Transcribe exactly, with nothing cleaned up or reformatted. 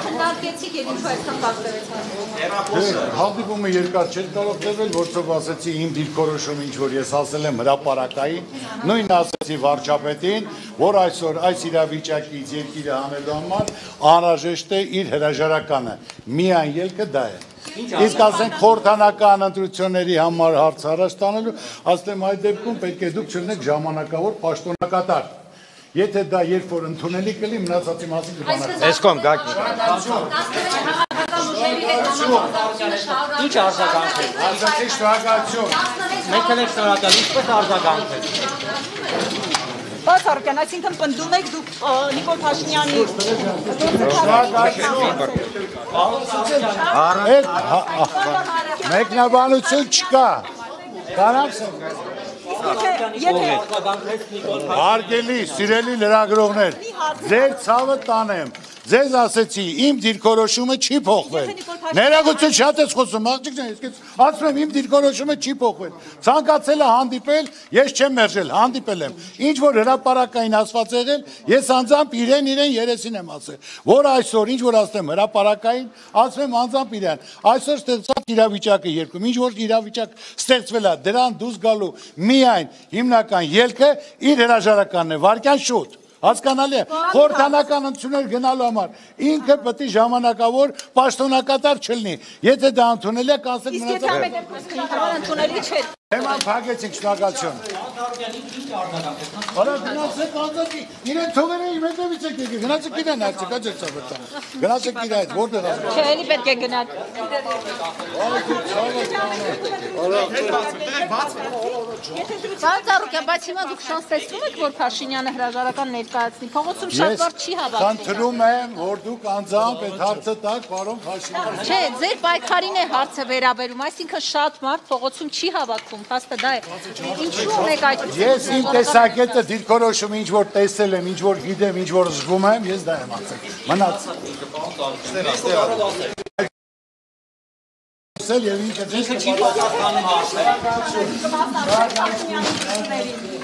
Քննարկեցիք եւ ինչու այսքան բացվեց։ Հանդիպումը երկար չէր կարող տևել, որովհետեւ ասացի իմ դիրքորոշումը ինչ որ ես ասել եմ հրապարակային, նույնն ասացի վարչապետին, որ այսօր այս իրավիճակից երկիրը հանելու համար անհրաժեշտ է իր հրաժարականը։ Միայն ելքը դա է։ Իսկ ասենք խորհրդանական ընտրությունների համար հարց առաջ տանելու, ասեմ այդ դեպքում պետք է դուք չլինեք ժամանակավոր պաշտոնակատար։ Եթե դա երբ որ ընդունելի կլինի, մնացածի մասին կբանաս։ Էսկոմ գաք։ Ինչ արձագանք է։ Ասացի շնորհակալություն։ Մենք էլ ենք շնորհակալ, ինչպես արձագանք է։ Բացառական, այսինքն պնդում եք դուք Նիկոլ Փաշինյանի մեկնաբանություն չկա։ Կարամսեք։ Հարգելի, սիրելի լրագրողներ, ձեր ցավը տանեմ, ձեզ ասեցի, իմ դիրքորոշումը չի փոխվել։ Ներողություն շատ ես խոսում, աղջիկներ, ես ասում եմ, իմ դիրքորոշումը չի փոխվել։ Ցանկացել է հանդիպել, ես չեմ մերժել, հանդիպել եմ։ Ինչ որ հրապարակային ասված եղել, ես անձամբ իրեն իրեն երեսին եմ ասել, որ այսօր ինչ որ ասեմ հրապարակային, ասում եմ անձամբ իրեն։ Այսօր ստեղծված իրավիճակը երկում, ինչ որ իրավիճակ ստեղծվել է, դրան դուրս գալու միայն հիմնական ելքը իր հրաժարականն է, վարկյան շուտ։ Հասկանալի է, խորհրդանական ընտրություններ գնալու համար ինքը պետք է ժամանակավոր պաշտոնակատար չլինի։ Եթե դա ընդունելի է, կանցել մնացած ընդունելի չէ։ Թեման փակեցինք, շնորհակալություն։ Արա գնացեք անձակի, իրեն թողերը իմ հետևից եք եկեք, գնացեք իրեն արդյոք աջեր ծավրտան։ Գնացեք իր այդ, որտեղ ասում։ Չէ, էլի պետք է գնալ։ Բանտարուկյան, բայց հիմա դուք շանս տեսնում եք, որ Փաշինյանը հրաժարական ներկայացնի, փողոցում շատ բարձ չի հավաքվել։ Խնդրում եմ, որ դուք անձամբ այդ հարցը տաք պարոն Փաշինյանին։ Չէ, ձեր պայքարին է հարցը վերաբերում, այսինքն շատ մարդ փողոցում չի հավաքվում, փաստը դա է։ Ինչու եք այդ։ Ես իմ տեսակետը դիրքորոշումը ինչ որ տեսել եմ, ինչ որ գիտեմ, ինչ որ զգում եմ, ես դա եմ ասել։ Մնաց։ Սել եւ ինքը ինքը չի պատասխանում հարցերին։